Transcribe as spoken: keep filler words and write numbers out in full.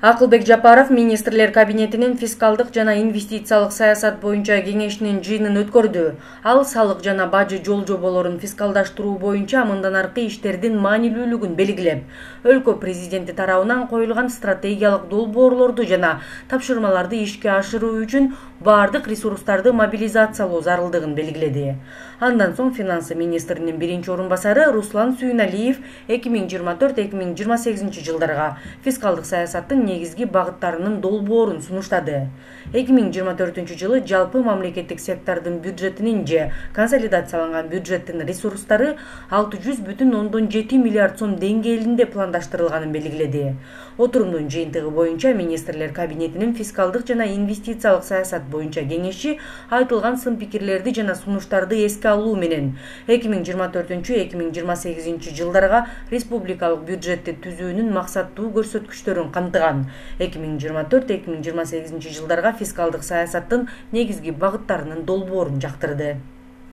Акылбек Жапаров министрлер кабинетинин фискалдык жана инвестициялык саясат боюнча кеңешинин жыйынын өткөрдү. Ал салык жана бажы жол жоболорун фискалдаштыруу боюнча мындан аркы иштердин маанилүүлүгүн белгилеп, өлкө президенти тарабынан коюлган стратегиялык долбоорлорду жана тапшырмаларды ишке ашыруу үчүн бардык ресурстарды мобилизациялоо зарылдыгын белгиледи. Андан соң финансы министринин биринчи орун басары Руслан Сүйүналиев эки миң жыйырма төрт эки миң жыйырма сегизинчи жылдарга фискалдык саясаттын негизги багыттарынын долбоорун сунуштады. эки миң жыйырма төртүнчү жылы жалпы мамлекеттик сектордун бюджетинин же консолидацияланган бюджеттин ресурстары алты жүз бүтүн ондон жети миллиард сом деңгээлинде пландаштырылганын белгиледи. Отурумдун жыйынтыгы боюнча министрлер кабинетинин фискалдык жана инвестициялык саясат боюнча кеңеши айтылган сын-пикирлерди жана сунуштарды эске алуу менен эки миң жыйырма төртүнчү эки миң жыйырма сегизинчи жылдарга республикалык бюджетти түзүүнүн максаттуу көрсөткүчтөрүн камтыган. эки миң жыйырма төрт эки миң жыйырма сегизинчи жылдарга фискалдык саясаттын негизги багыттарынын долбоорун жактырды.